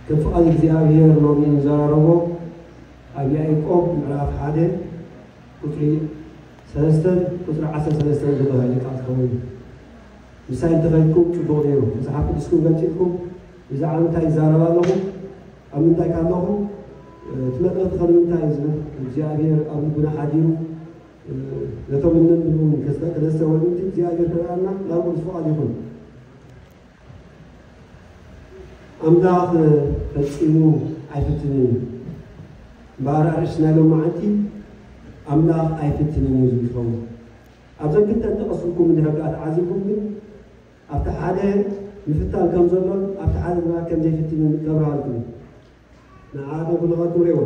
ከም ፍቓድ እግዚኣብሔር ሎሚ እንዘራረቦ ኣብ ያዕቆብ ምዕራፍ ሓደ ቁጽሪ ሰለስተን ቁጽሪ ዓሰርተ ሰለስተን ዘሎ ቃል ክኸውን እዩ። ምሳይ እንተኸድኩም ጽቡቕ ነይሩ። መጽሓፍ ቅዱስኩም ገንጺልኩም ብዛዕባ ምንታይ ይዛረብ ኣለኹ፣ ኣብ ምንታይ ካለኹ፣ እቲ መልእኽቲ ከም ምንታይ እዩ ዝብል እግዚኣብሔር ኣብ ልብና ሓዲሩ ነቶም እነንብቡ ከስተውዕል እቲ እግዚኣብሔር ክረኣና ናብ ቅዱስ ፍቓድ ይኹን። ኣምላኽ ፈጺሙ ኣይፍትንን እዩ። እምበኣር ኣርእስቲ ናይ ሎማዓንቲ ኣምላኽ ኣይፍትንን እዩ ዝብል ይኸውን። ኣብዘን ክልተ ጠቐስልኩም እንድሕር ደኣ ተዓዚብኩም ግን ኣብቲ ሓደ ምፍታን ከም ዘሎን ኣብቲ ሓደ ድማ ከም ዘይፍትንን ከብርሃልኩም እዩ። ንዓኣቶም ኩልኻትኩም ርእይዎ።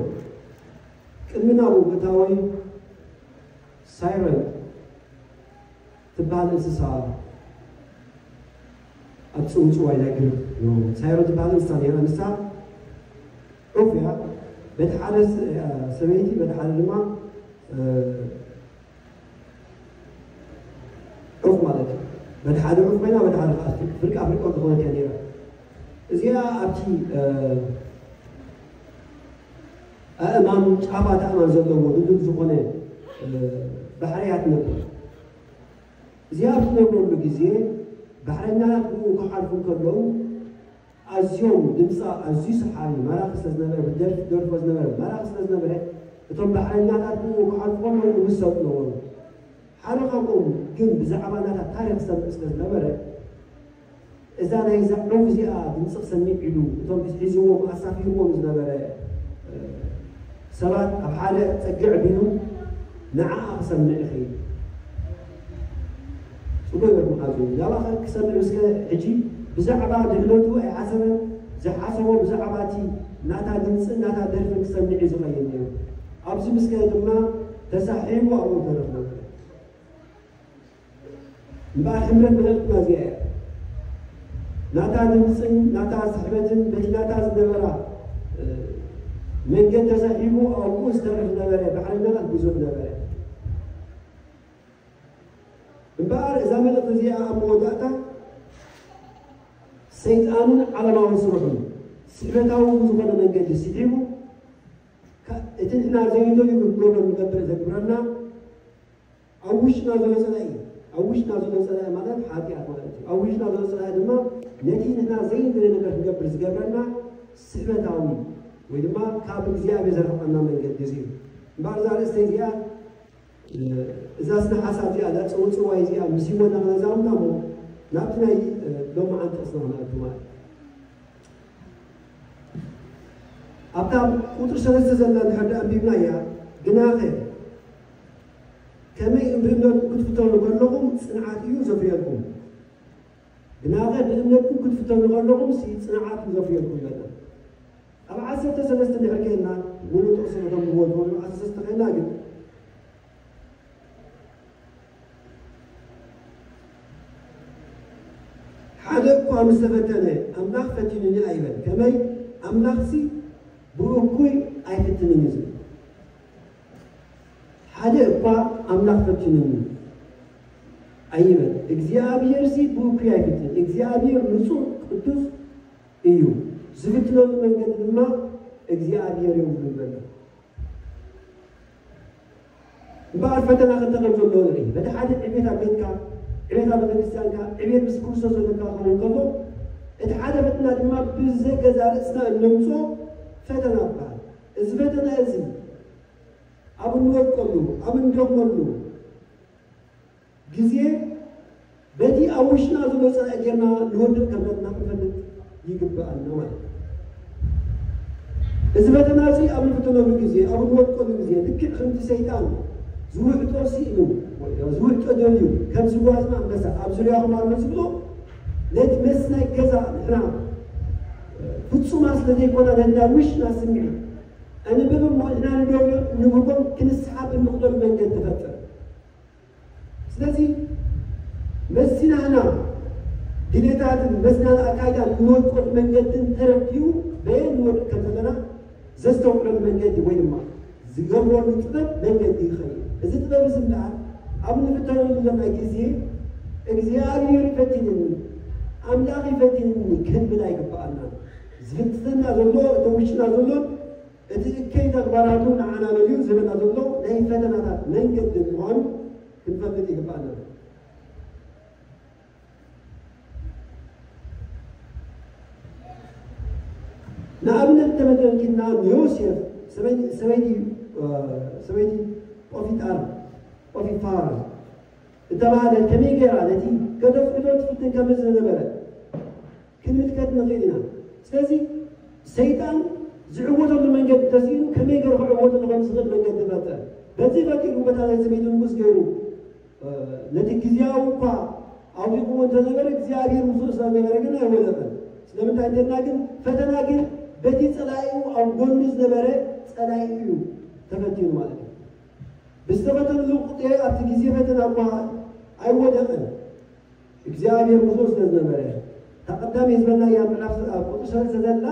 ቅድሚ ናብኡ ምእታወይ ሳይረን ትበሃል እንስሳ ኣብ ጽውጽዋይ ናይ ግሪክ ነበሩ። ሳይሮ ትበሃል እንስሳ ነይራ። ንሳ ዑፍ እያ። በቲ ሓደ ስ-፣ ሰበይቲ፣ በቲ ሓደ ድማ፣ እ፣ ዑፍ ማለት እዩ። በቲ ሓደ ዑፍ ኮይና፣ በቲ ሓደ ከኣ ፍርቂ ኣፍሪቆም ዝኾነት እያ ነይራ። እዚኣ ኣብቲ፣ እ፣ ኣእማን፣ ጫፋት ኣእማን ዘለዎ ድልዱል ዝኾነ፣ እ፣ ባሕሪ እያ ትነብር። እዚኣ ኣብ ትነብረሉ ግዜ፣ ባሕረኛታት ብኡ ክሓልፉ እንከለዉ፣ ኣዝዮም ድምጻ ኣዝዩ ሰሓቢ፣ ማራኺ ስለ ዝነበረ፣ ብደርፊ ትደርፎ ዝነበረ፣ ማራኺ ስለ ዝነበረ፣ እቶም ባሕረኛታት ብኡ ክሓልፉ ከለዉ፣ ንምሰጥ ነበሩ። ሓደ ካብኦም ግን ብዛዕባ ናታ ታሪኽ ዝሰምዕ ስለ ዝነበረ፣ እዛ ናይዛ ዑፍ እዚኣ ድምፂ ክሰምዕ ኢሉ፣ እቶም ሒዝዎም ኣሳፊርዎም ዝነበረ፣ እ፣ ሰባት ኣብ ሓደ ጸግዕ ኣቢሉ ንዓኣ ክሰምዕ ይኸይድ። ጽቡቕ ይበል መሓዙ። ናባኸ ክሰምዕ ምስከ ሕጂ ብዛዕባ ድሕነቱ ኣይሓሰበን። ዝሓሰቦ ብዛዕባ እቲ ናታ ድምፅን ናታ ደርፍን ክሰምዕ እዩ ዝኸይድ ነይሩ። ኣብዚ ምስከ ድማ ተሳሒቡ ኣብኡ ተረኽበ። እምበኣር ሕምረት መልእኽትና እዚኣ እያ። ናታ ድምፅን ናታ ስሕበትን በቲ ናታ ዝነበራ፣ እ፣ መንገድ ተሳሒቡ ኣብኡ ዝተርፍ ነበረ። ባሕረኛታት ብዙሕ ነበረ። እምበኣር እዛ መልእኽቲ እዚኣ ኣብ መወዳእታ ሰይጣንን ዓለማዊ ስርሑን ስሕበታዊ ብዝኾነ መንገዲ ስሒቡ፣ ካ-፣ እቲ ንሕና ዘይንደልዮ ክንገብሮ ንገብር ዘግብረና ኣብ ውሽጥና ዘሎ ጸላኢ፣ ኣብ ውሽጥና ዘሎ ጸላኢ ማለት ሓጢኣት ማለት እዩ። ኣብ ውሽጥና ዘሎ ጸላኢ ድማ ነቲ ንሕና ዘይንደልዮ ነገር ክንገብር ዝገብረና ስሕበታዊ ወይ ድማ ካብ እግዚኣብሔር ዘርሕቐና መንገዲ እዚ እዩ። እምበኣር እዛ ኣርእስቲ እዚኣ፣ እ፣ እዛ ስነ ሓሳብ እዚኣ፣ እዛ ጽውጽዋይ እዚኣ ምስ ህይወትና ክነዛምዳ እሞ ናብቲ ናይ፣ እ፣ ሎማዓንቲ ጥቕስና ክንኣቱ ማለት እዩ። ኣብታ ቁጽሪ ሰለስተ ዘላ እንድሕር ደኣ ኣንቢብናያ፣ ግናኸ ከመይ እምብእምነትኩም ክትፍተኑ ከለኹም ጽንዓት እዩ ዘፍርየልኩም። ግናኸ ብእምነትኩም ክትፍተኑ ከለኹም ሲ ጽንዓት እዩ ዘፍርየልኩም ይበልና። ኣብ ዓሰርተ ሰለስተ እንድሕር ከይድና፣ ሙሉእ ጥቕሲ ከተንብብዎ ትኽእሉ፣ ዓሰርተ ሰለስተ ከይድና ግን ሓደ እኳ ምስ ተፈተነ፣ ኣምላኽ ፈቲኑኒ ኣይበል። ከመይ? ኣምላኽሲ ብእኩይ ኣይፍትንን እዩ ዝብል። ሓደ እኳ ኣምላኽ ፈቲኑኒ ኣይበል። እግዚኣብሔርሲ ብእኩይ ኣይፍትን። እግዚኣብሔር ንጹሕ ቅዱስ እዩ። ዝፍትነሉ መንገዲ ድማ እግዚኣብሔር የብሉን በለ። እምበኣር ፈተና ክልተ ከም ዘለዎ ንርኢ። በቲ ሓደ ዕቤት ኣብ ቤትካ፣ ዕቤት ኣብ ቤተክርስትያንካ፣ ዕቤት ምስ ክርስቶስ ዘለካ ክኸውን ከሎ፣ እቲ ሓደ ፈተና ድማ ብዘገዛ ርእስና እነምፅኦ ፈተና ይበሃል። እዚ ፈተና እዚ ኣብ እንወድቀሉ፣ ኣብ እንደኽመሉ ግዜ በቲ ኣብ ውሽጥና ዘሎ ጸላኢ ጌርና ንወድቕ ከም ዘለና ክንፈልጥ ይግብኣና ማለት እዩ። እዚ ፈተና እዚ ኣብ እንፍተነሉ ግዜ፣ ኣብ እንወድቀሉ ግዜ፣ ልክዕ ከምቲ ሰይጣን ዝውሕጦ ስኢኑ፣ ወይ ድማ ዝውሕጦ ደልዩ፣ ከም ዝጓዝና ኣንበሳ ኣብ ዙርያኹም ኣሎ ዝብሎ፣ ነቲ መስ ናይ ገዛ ንሕና ፍጹማት ስለ ዘይኮና፣ ነቲ ናይ ውሽጥና ስምዒት ኣንብብ እሞ ንሕና ንደልዮ ንብቦም ክንስሓብ እንኽደሉ መንገዲ ትፈጥር። ስለዚ መሲናህና ድሌታትን መሲናህና ኣካይዳን እንወድቀሉ መንገድን ተረዲኡ በየን ንወድቅ ከም ዘለና ዘስተውዕለሉ መንገዲ ወይ ድማ ዝገብረሉ ጥበብ መንገዲ ይኸይድ። እዚ ጥበብ እዚ እምበኣር ኣብ ንፍተነሉ ዘለና ግዜ እግዚኣብሔር ይፈትንኒ፣ ኣምላኽ ይፈትንኒ ክንብል ኣይግብኣናን። ዝፍትነና ዘሎ፣ እቲ ውሽጥና ዘሎ፣ እቲ እከይ ተግባራቱ ንዓና መሊኡ ዝህበና ዘሎ ናይ ፈተናታት መንገዲ ምዃኑ ክንፈልጥ ይግባኣና። ንኣብነት ተመልኪትና ንዮሴፍ ሰበይቲ፣ ሰበይቲ፣ እ፣ ሰበይቲ ጶፊጣር፣ ጶፊፋር እተባህለ ከመይ ገይራ ነቲ ከተፍቅዶ ትፍትን ከም ዝነበረ ክንምልከት ንኽእል ኢና። ስለዚ ሰይጣን ዝዕወተሉ መንገዲ ተስኢኑ ከመይ ገይሩ ክዕወተሉ ከም ዝኽእል መንገዲ ፈጠረ። በዚ ፈጢሩ በታ ናይ ሰበይቲ ንጉስ ገይሩ፣ እ፣ ነቲ ግዝያዊ እኳ ኣውዲቕዎ እንተነበረ እግዚኣብሔር ምስኡ ስለ ዝነበረ ግን ኣይወደቐን። ስለምንታይ እንተልና ግን ፈተና ግን በቲ ጸላኢኡ ኣብ ጎኑ ዝነበረ ጸላኢ እዩ ተፈቲኑ ማለት እዩ። ብዝተፈተነሉ ቁጥሪ ኣብቲ ግዜ ፈተና እኳ ኣይወደቐን። እግዚኣብሔር ምስኡ ስለ ዝነበረ። እታ ቀዳመይ ዝበልናያ ምዕራፍ ኣብ ቁጥሪ ሰለስተ ዘላ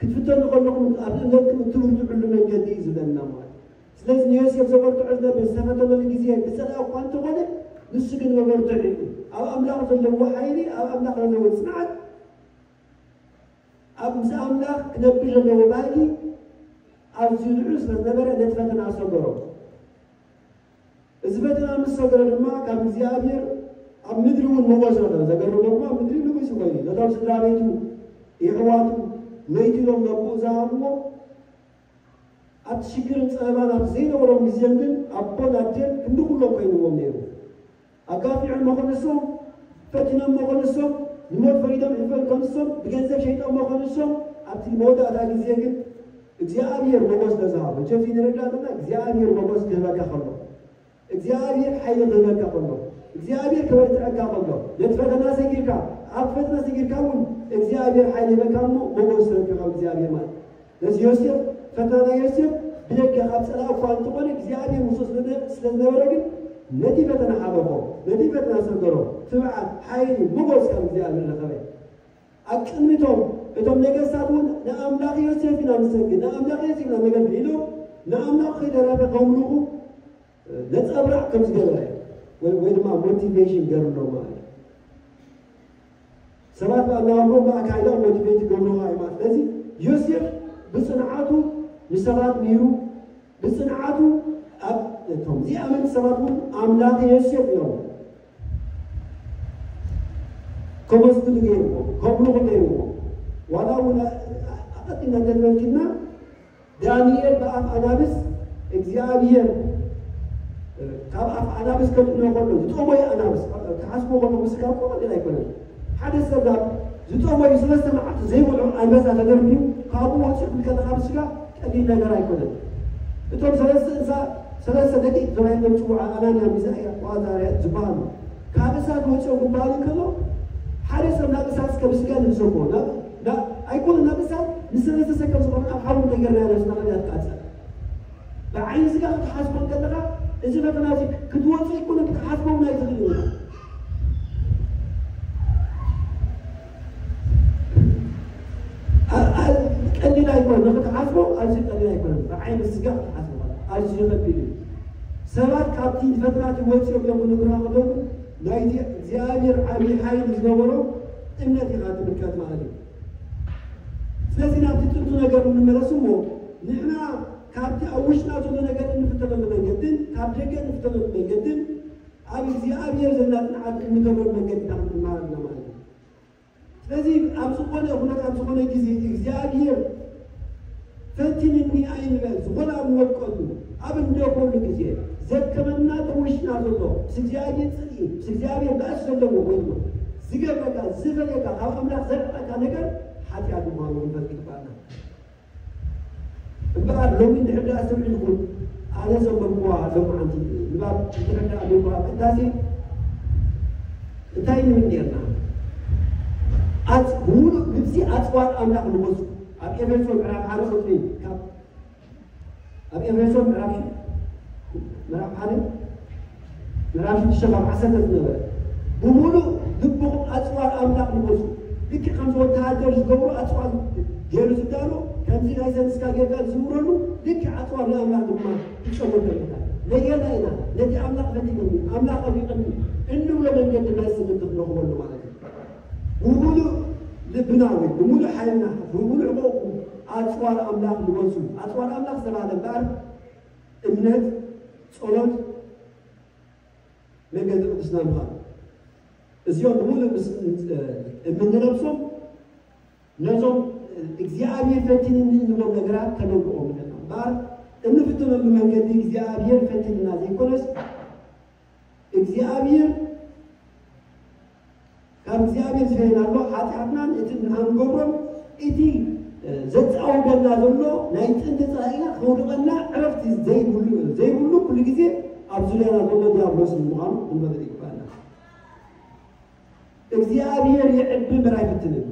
ክትፍተኑ ከለኹም ኣብ እምነትኩም እትብርትዕሉ መንገዲ እዩ ዝብለና ማለት እዩ። ስለዚ ንዮሴፍ ዘበርትዖ ዝነብር ዝተፈተነሉ ግዜ ብጸላኢ እኳ እንተኾነ ንሱ ግን መበርትዒ እዩ። ኣብ ኣምላኽ ዘለዎ ሓይሊ፣ ኣብ ኣምላኽ ዘለዎ ጽንዓት፣ ኣብ ምስ ኣምላኽ ክነብር ዘለዎ ባህጊ ኣዝዩ ልዑል ስለ ዝነበረ ነቲ ፈተና ኣሰገሮ። እዚ ፈተና ምስ ሰገረ ድማ ካብ እግዚኣብሔር ኣብ ምድሪ እውን ሞገስ ረኸበ። ዘገርሞ ድማ ምድሪ ንጉስ ኮይኑ ነቶም ስድራ ቤቱ የሕዋቱ መይትሎም ነብኡ ዝሃብዎ ኣብቲ ሽግርን ጸበባን ኣብቲ ዘይነበሮም ግዜም ግን ኣቦን ኣደን ክንዲ ኩሎም ኮይንዎም ነይሩ። ኣጋፊዖሞ ከንሶም፣ ፈቲኖሞ ከንሶም፣ ንሞት ፈሪዶም ሕልፈን ከንሶም፣ ብገንዘብ ሸይጦሞ ከንሶም፣ ኣብቲ መወዳእታ ግዜ ግን እግዚኣብሔር ሞገስ ነዝሃቦ። ጀፊ ንረዳእ ዘለና እግዚኣብሔር ሞገስ ክህበካ ከሎ እግዚኣብሔር ሓይሊ ክህበካ ከሎ እግዚኣብሔር ክበርትዐካ ከሎ ነቲ ፈተና ሰጊርካ ኣብ ፈተና ሰጊርካ እውን እግዚኣብሔር ሓይሊ ይበካ እሞ ሞገስ ረኪብካ እግዚኣብሔር ማለት ነዚ ዮሴፍ ፈተና ናይ ዮሴፍ ብደገ ካብ ጸላእ እኳ እንተኾነ እግዚኣብሔር ምስኡ ስለ ዝነበረ ግን ነቲ ፈተና ሓለፎ ነቲ ፈተና ሰገሮ ትብዓት ሓይሊ ሞገስ ካብ እግዚኣብሔር ረኸበ ኣብ ቅድሚቶም እቶም ነገስታት እውን ንኣምላኽ ዮሴፍ ኢና ንሰግድ ንኣምላኽ ዮሴፍ ኢና ነገልግል ኢሎም ንኣምላኽ ከይደረፈ ከምልኹ ነፀብራቕ ከም ዝገበረ ወይ ድማ ሞቲቬሽን ገርሎ ማለት እዩ ሰባት ብኣናባብሮ ብኣካይዳ ሞቲቬት ይገብርዋ እዩ ማለት ስለዚ ዮሴፍ ብፅንዓቱ ንሰባት ሚሩ ብፅንዓቱ እቶም ዚኣመንቲ ሰባት እውን ኣምላኽ ዮሴፍ እዮም ከመስግኑ ገይርዎ ከምልኹ ገይርዎ ዋላ እውን ኣቐዲምና እንተዝመልኪትና ዳንኤል ብኣፍ ኣናብስ እግዚኣብሔር ካብ ኣፍ ኣናብስ ከጥኖ ከሎ ዝጠወየ ኣናብስ ክሓስቦ ከሎ ምስካር እኮ ቀሊል ኣይኮነን ሓደ ሰብ ናብ ዝጠወዩ ሰለስተ መዓልቲ ዘይበልዑ ኣንበሳ ተደርብዩ ካብኡ ወፂኡ ክልከለካ ብስጋ ቀሊል ነገር ኣይኮነን እቶም ሰለስተ እንሳ ሰለስተ ደቂ ተባሂሎም ፅውዓ ኣናንያ ሚሳኤል ዋዛርያ ዝበሃሉ ካብ እሳት ወፂኦም ክበሃሉ ከሎ ሓደ ሰብ ናብ እሳት እስከ ብስጋ ንብሰቦ ኣይኮነ ናብ እሳት ንሰለስተ ሰብ ከም ዝኾነ ኣብ ሓዊ ተገርና ነብስና ከመይ ኣትቃፀል ብዓይኒ ስጋ ክትሓስቦ ከለኻ እዚ ፈተና እዚ ክትወፁ ኣይኮነ ክትሓስቦ ናይ ዝኽእል ይሆናል ቀሊል ኣይኮነ ንክትሓስቦ ኣዝዩ ቀሊል ኣይኮነ ብዓይኒ ስጋ ክትሓስቦ ኣዝዩ ከቢድ እዩ ሰባት ካብቲ ፈተናቲ ወፂኦም እዮም ንግራ ከለዉ ናይቲ እግዚኣብሔር ዓብዪ ሓይል ዝነበሮ እምነት ኢኻ ትምልከት ማለት እዩ ስለዚ ናብቲ ጥንቱ ነገር ንምመለስ እሞ ንሕና ካብቲ ኣብ ውሽጥና ዘሎ ነገር እንፍተነሉ መንገድን ካብ ደገ እንፍተነሉ መንገድን ኣብ እግዚኣብሔር ዘለና ፅንዓት እንገብረሉ መንገዲ ኢና ክንመሃር ኣለና ማለት እዩ ስለዚ ኣብ ዝኾነ ኩነት ኣብ ዝኾነ ግዜ እግዚኣብሔር ፈቲንኒ ኣይንበል ዝኾነ ኣብ ንወድቀሉ ኣብ እንደኾሉ ግዜ ዘከመና ተውሽና ዘሎ ምስ እግዚኣብሔር ፅልኢ ምስ እግዚኣብሔር ባእስ ዘለዎ ወይ ድማ ዝገብረካ ዝፈለካ ካብ ኣምላኽ ዘርቀካ ነገር ሓጢኣት ምዃኑ ክንፈልጥ ይግባኣና እምበኣር ሎሚ እንድሕር ደኣ ኣስተውዒልኩም ኣነ ዘንበብኩዋ ሎምዓንቲ ንባብ እንድሕር ደኣ ኣንቢብኩዋ ቅዳሴ እንታይ ንብል ኔርና? ኣጽ ብሙሉእ ግብጺ ኣጽዋር ኣምላኽ ንገዝኡ ኣብ ኤፌሶን ምዕራፍ ሓደ ቁጽሪ ካብ ኣብ ኤፌሶን ምዕራፍ ምዕራፍ ሓደ ምዕራፍ ሽዱሽተ ካብ ዓሰርተ ዝነበረ ብምሉእ ልብኹም ኣፅዋር ኣምላኽ ልበሱ። ልክዕ ከምዚ ወተሃደር ዝገብሮ ኣፅዋር ገይሩ ዝዳሎ ከምዚ ናይ ዘንስካ ጌርካ ዝዝውረሉ ልክዕ ኣፅዋር ናይ ኣምላኽ ድማ ትጨምር ተሪእካ። ነየና ኢና ነቲ ኣምላኽ ፈቲኑኒ ኣምላኽ ኣፍሪቕኒ እንብሎ መንገዲ መልሲ ምእንቲ ክንረኽበሉ ማለት እዩ። ብምሉእ ልብ ብና ወይ ብምሉእ ሓይልና ብምሉእ ዕቑቑ ኣፅዋር ኣምላኽ ልበሱ። ኣፅዋር ኣምላኽ ዝተባህለ እምበኣር እምነት፣ ጸሎት፣ መንገዲ ቅድስና ምዃን። እዚኦም ብምሉእ ምስ እምንለብሶም ነዞም እግዚኣብሔር ፈቲንኒ እንብሎም ነገራት ከነውድቖም ንኽእል ኢና። እምበኣር እንፍትነሉ መንገዲ እግዚኣብሔር ፈቲንና ዘይኮነስ እግዚኣብሔር ካብ እግዚኣብሔር ዝፈለየና ኣሎ። ሓጢኣትናን እቲ ንሓ ንገብሮን እቲ ዘፃውደና ዘሎ ናይ ጥንቲ ፀላኢና ከውድቐና ዕረፍቲ ዘይብሉ ዘይብሉ ኩሉ ግዜ ኣብ ዙርያና ዘሎ ዲያብሎስ ምዃኑ ክንፈልጥ ይግባና። እግዚኣብሔር ይዕቢ እምበር ኣይፍትንን።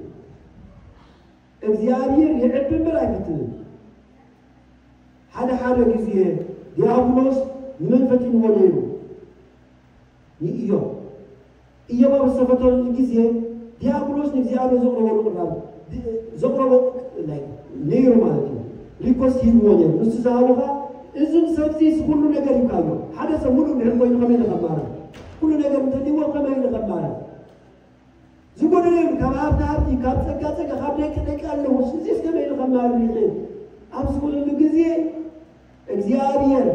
እግዚኣብሔር ይዕቢ እምበር ኣይፍትንን። ሓደ ሓደ ግዜ ዲያብሎስ ንመን ፈቲንዎ ነይሩ? ንኢዮብ። ኢዮብ ኣብ ዝተፈተነሉ ግዜ ዲያብሎስ ንእግዚኣብሔር ዘቕረበሉ ቅራብ ዘቕረቦ ነይሩ ማለት እዩ። ሪኮስት ሂብዎ ነይሩ። ንሱ ዝሃቦኻ እዚ ሰብዚ እዚ ኩሉ ነገር ሂብካዮ። ሓደ ሰብ ሙሉእ እንድሕር ኮይኑ ከመይ ኢሉ ከማርር? ኩሉ ነገር እንተልይዎ ከመይ ኢሉ ከማርር? ዝጎደለ የብሉ። ካብ ሃብቲ ሃብቲ፣ ካብ ጸጋ ጸጋ፣ ካብ ደቂ ደቂ ኣለዎ። ስለዚ ከመይ ኢሉ ከማርር ይኽእል? ኣብ ዝበለሉ ግዜ እግዚኣብሔር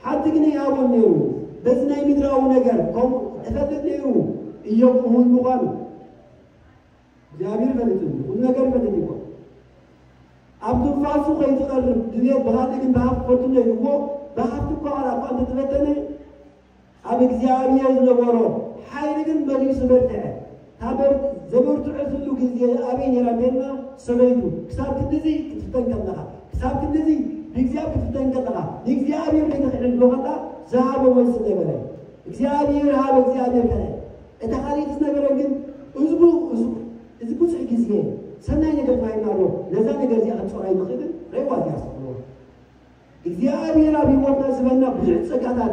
ሓንቲ ግን ይሃቦ ነይሩ። በዚ ናይ ምድራዊ ነገር ከምኡ እፈልጥ ነይሩ። ኢዮብ እሙን ምዃኑ እግዚኣብሔር ይፈልጥ እዩ። ኩሉ ነገር ይፈልጥ እዩ። ኣብ ትንፋሱ ከይትቐርብ ድልየት ብኻልእ ግን ብሃብቲ ፈትኖ ኢሉ እሞ ብሃብቲ እኳ ዋላ እኳ እንተተፈተነ ኣብ እግዚኣብሔር ዝነበሮ ሓይሊ ግን መሊሱ በርትዐ። እታ በር-፣ ዘበርትዐትሉ ግዜ ኣበይ ነይራ እንተልና፣ ሰበይቱ ክሳብ ክንድዚ ክትፍተን ከለኻ፣ ክሳብ ክንድዚ ብእግዚኣብሔር ክትፍተን ከለኻ፣ ንእግዚኣብሔር ዘይተኽዕል ብሎ ከላ ዝሃቦ መልሲ ነበረ። እግዚኣብሔር ሃበ፣ እግዚኣብሔር ከልአ። እታ ካልኣይቲ ዝነበረ ግን እዚ ቡ-፣ እዚ፣ እዚ ብዙሕ ግዜ ሰናይ ነገር ተባሂልና ኣሎ። ነዛ ነገር እዚኣ ክንጾራ ኣይንኽእልን። ረይዋ እዚኣ ኣስተውዕልዋ። እግዚኣብሔር ኣብ ህይወትና ዝህበና ብዙሕ ጸጋታት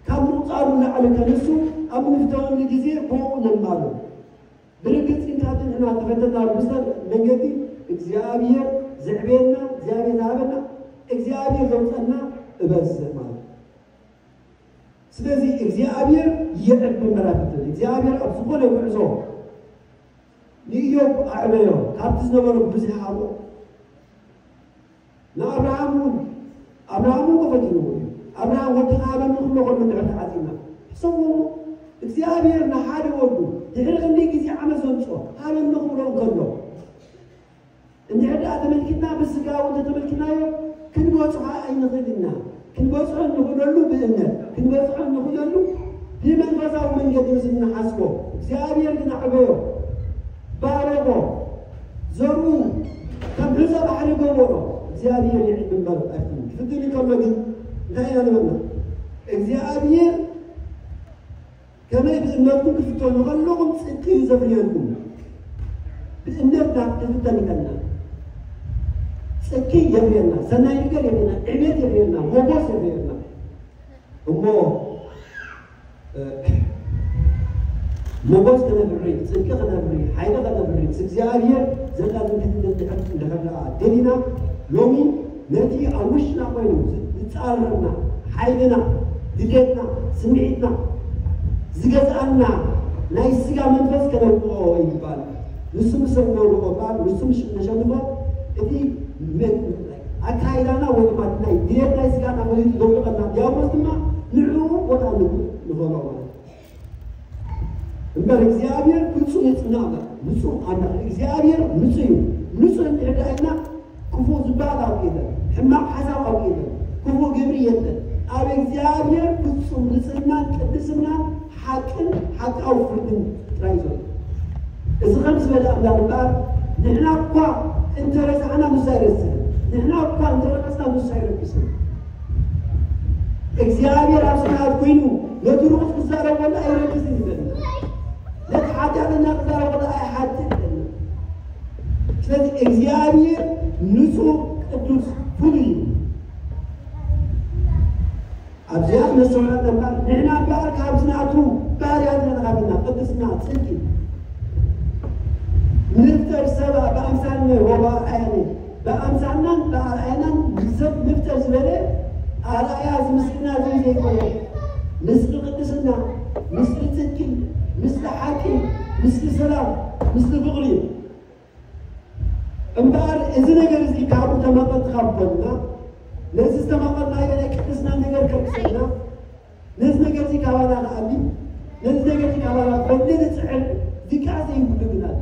ካብ ምቑጻሩ ንላዕሊ ከንሱ ኣብ እንፍተነሉ ግዜ ብኡ ንማሉ። ብርግጽ ግን ካብቲ ንሕና ዝተፈተና ብዝተ-፣ መንገዲ እግዚኣብሔር ዘዕበየና፣ እግዚኣብሔር ዝሃበና፣ እግዚኣብሔር ዘውፀና እበዝሕ ማለት እዩ። ስለዚ እግዚኣብሔር ይዕቢ እምበር ኣይፈትን። እግዚኣብሔር ኣብ ዝኾነ ጉዕዞ ንኢዮብ ኣዕበዮ፣ ካብቲ ዝነበሮ ብዙሕ ሃቦ። ንኣብርሃም እውን፣ ኣብርሃም እውን ፈቲንዎ እዩ። ኣብርሃም ወድኻ ሃበኒ ክብሎ ከሎ እንድሕር ተዓፂና፣ ሕሰብዎ እሞ፣ እግዚኣብሔር ንሓደ ወዱ ድሕሪ ክንደይ ግዜ ዓመት ዘምፅኦ ሃበኒ ክብሎ እንከሎ፣ እንድሕር ደኣ ተመልኪትና፣ ብስጋ እውን ተተመልኪናዮ፣ ክንበፅሖ ኣይንኽእል ኢና። ክንበፅሖ እንኽእለሉ ብእምነት፣ ክንበፅሖ እንኽእለሉ ብመንፈሳዊ መንገዲ ምስ እንሓስቦ፣ እግዚኣብሔር ግን ኣዕበዮ፣ ባረኾ፣ ዘርኡ ከም ሑፃ ባሕሪ ገበሮ። እግዚኣብሔር ይዕቢ እምበር ኣይፍትን። ክፍትን እንከሎ ግን እንታይ ኢና ንበልና? እግዚኣብሔር ከመይ ብእምነትኩም ክትፍተኑ ከለኹም ጽድቂ እዩ ዘፍርየልኩም። ብእምነትና ክንፍተን ከለና ጽድቂ የፍርየልና፣ ሰናይ ነገር የፍርየልና፣ ዕቤት የፍርየልና፣ ሞጎስ የፍርየልና። እሞ፣ እ፣ ሞጎስ ከነፍሪ፣ ጽድቂ ከነፍሪ፣ ሓይሊ ከነፍሪ፣ ምስ እግዚኣብሔር ዘላትን ክትትል እንድሕር፣ እንድሕር ደኣ ደሊና፣ ሎሚ ነቲ ኣብ ውሽጥና ኮይኑ ዝጻረረና፣ ሓይልና፣ ድሌትና፣ ስምዒትና ዝገዝኣና ናይ ስጋ መንፈስ ከነውድቖ ይግባእ። ንሱ ምስ ነውድቖ እምበኣር፣ ንሱ ምስ ነሸንፎ፣ እቲ መ-፣ ኣካይዳና ወይ ድማ እቲ ናይ ድሌት ናይ ስጋና መሊሱ ዘውድቐና ዲያብሎስ ድማ ንዕኡ ቦታ ንብ-፣ ንበሎ ማለት እዩ። እምበር እግዚኣብሔር ፍጹም ንጽህና ኣምላኽ፣ ንጹህ ኣምላኽ፣ እግዚኣብሔር ንጹህ እዩ። ንጹህ እንድሕር ደኣ ኢልና ክፉእ ዝበሃል ኣብኡ የለን፣ ሕማቕ ሓሳብ ኣብኡ የለን፣ ክፉእ ግብሪ የለን። ኣብ እግዚኣብሔር ፍጹም ንጽህናን ቅድስናን ሓቅን ሓቃዊ ፍርድን ጥራይ እዩ ዘሎ። እዚ ከም ዝበለ ኣምላኽ እምበኣር፣ ንሕና እኳ እንተ ረሳዕና ንሱ ኣይረስዕን፣ ንሕና እኳ እንተ ረኸስና ንሱ ኣይረክስን። እግዚኣብሔር ኣብ ሰማያት ኮይኑ ነቲ ርኹስ ክዛረብ ከሎ ኣይረክስን ይብለና። ነቲ ሓጢኣተኛ ክዛረብ ከሎ ኣይሓጥን ይብለና። ስለዚ እግዚኣብሔር ንጹህ፣ ቅዱስ፣ ፍሉይ እዩ። ኣብዚኣ ክነስተውዕላ እምበር፣ ንሕና እምበኣር ካብዚ ናቱ ባህርያት ኢና ተኻፊልና፣ ቅድስና፣ ጽድቂ። ንፍጠር ሰብ ብኣምሳልነ ወበኣርኣያነ፣ ብኣምሳልናን ብኣርኣያናን ሰብ ንፍጠር ዝበለ ኣርኣያ እዚ ምስልና እዚ ዘይኮነ፣ ምስጢር ቅድስና፣ ምስጢር ጽድቂ፣ ምስጢር ሓቂ፣ ምስቲ ሰላም፣ ምስቲ ፍቕሪ እዩ። እምበኣር እዚ ነገር እዚ ካብኡ ተመቐልቲ ካብ ኮንና፣ ነዚ ዝተመቐልናዮ ናይ ቅድስና ነገር ከልቅሰና፣ ነዚ ነገር እዚ ካባና ክኣሊ፣ ነዚ ነገር እዚ ካባና ክፈልጥ ንጽዕር፣ ድቃስ ዘይብሉ ግን ኣሎ።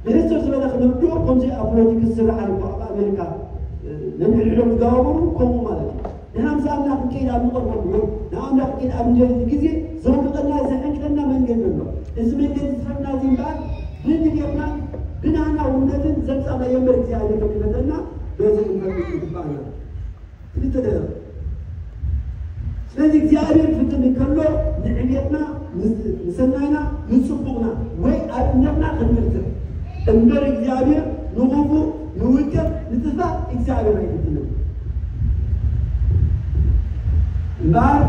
ብሕጽር ዝበለ ክንርድኦ፣ ከምዚ ኣብ ፖለቲክስ ዝስራሕ ኣሎ፣ ኣብ ኣሜሪካ፣ እ፣ ነንሕድሕዶም ዝጋባበሩ ከምኡ ማለት እዩ። ንሓምሳ ኣምላኽ ክንከይድ ኣብ ንቐርበሉ ወይ ንኣምላኽ ክንከይድ ኣብ ንደሊ ግዜ ዘውድቐና፣ ዘሕንቅለና መንገዲ ኣሎ። እዚ መንገዲ ዝፈትና እዚ እምበኣር ብድሌትና ብናህና ውነትን ዘምጻእናዮ እምበር እግዚኣብሔር ከይፈተና በዚ ክንፈልጥ ይግባእና። ክልተ ደረቕ። ስለዚ እግዚኣብሔር ክፍትን እንከሎ ንዕቤትና፣ ንሰናይና፣ ንጽቡቕና ወይ ኣብ እምነትና ክንብርትዕ እምበር እግዚኣብሔር ንኽፉእ፣ ንውድቀት፣ ንጥፋእ እግዚኣብሔር ኣይፍትንን። እምበኣር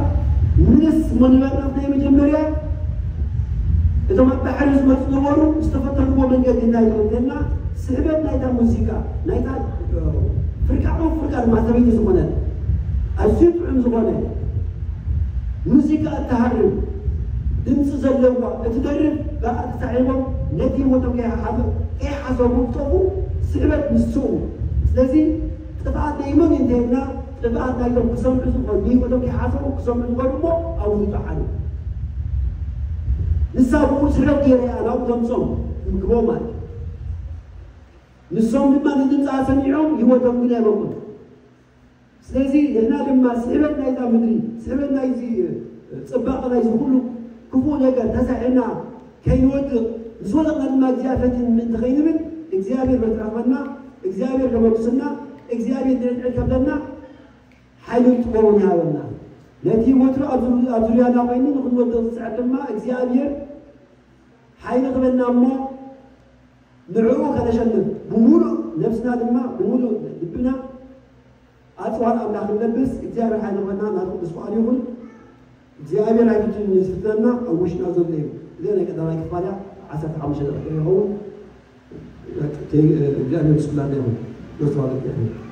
ምንስ እሞ ንበርናት ናይ መጀመርያ እቶም ኣብ ባሕሪ ዝመፁ ነበሩ ዝተፈተንዎ መንገዲ ናይ ተወደና ስሕበት ናይታ ሙዚቃ ናይታ ፍርቃ ፍርቃ ድማ ሰበይቲ ዝኾነት ኣዝዩ ጥዑም ዝኾነ ሙዚቃ እትሃርም ድምፂ ዘለዋ እትደርፍ ብኣ ተሳሒቦም ነቲ ህይወቶም ከይሓሰቡ ዝጠፉ ስሕበት ንሱ እዩ። ስለዚ ጥፍኣት ናይ መን እንተይልና ጥፍኣት ናይቶም ክሰምዑ ዝኾኑ ንህይወቶም ከይሓሰቡ ክሰምዑ ዝኾኑ እሞ ኣብኡ ይጠሓሉ። ንሳ ብኡ ስሕበት ገይረ እያ ናብኡ ተምፅኦም ምግቦ ማለት እዩ። ንሶም ድማ ንድምፃ ሰሚዖም ህይወቶም ግን ኣይበቁን። ስለዚ ንሕና ድማ ስሕበት ናይዛ ምድሪ፣ ስሕበት ናይዚ ፅባቐ ናይዚ ኩሉ ክፉእ ነገር ተሳሒብና ከይንወድቕ፣ ምስ ወደቕና ድማ እግዚኣብሔር ፈቲን ምእንቲ ከይንብል እግዚኣብሔር በትረኽበና፣ እግዚኣብሔር ደመጉስና፣ እግዚኣብሔር ድዕድዕ ከብለና ሓይሊ ክኸውን ይሃበና። ነቲ ወትሩ ኣብ ዙ- ኣብ ዙርያና ኮይኑ ንክንወድቕ ዝፅዕር ድማ እግዚኣብሔር ሓይሊ ክበና እሞ ንዕኡ ከነሸንፍ ብምሉእ ነብስና ድማ ብምሉእ ልብና ኣፅዋር ኣምላኽ ንለብስ እግዚኣብሔር ሓይሊ ክበና ናቱ ቅዱስ ፍቓዱ ይኹን። እግዚኣብሔር ኣይፍትን ዝፍትነና ኣብ ውሽጥና ዘሎ እዩ። እዚ ናይ ቀዳማይ ክፋል እያ ዓሰርተ ሓሙሽተ ደቂቃ ይኸውን። እግዚኣብሔር ምስ ኩላና ይኹን። ነብስዋ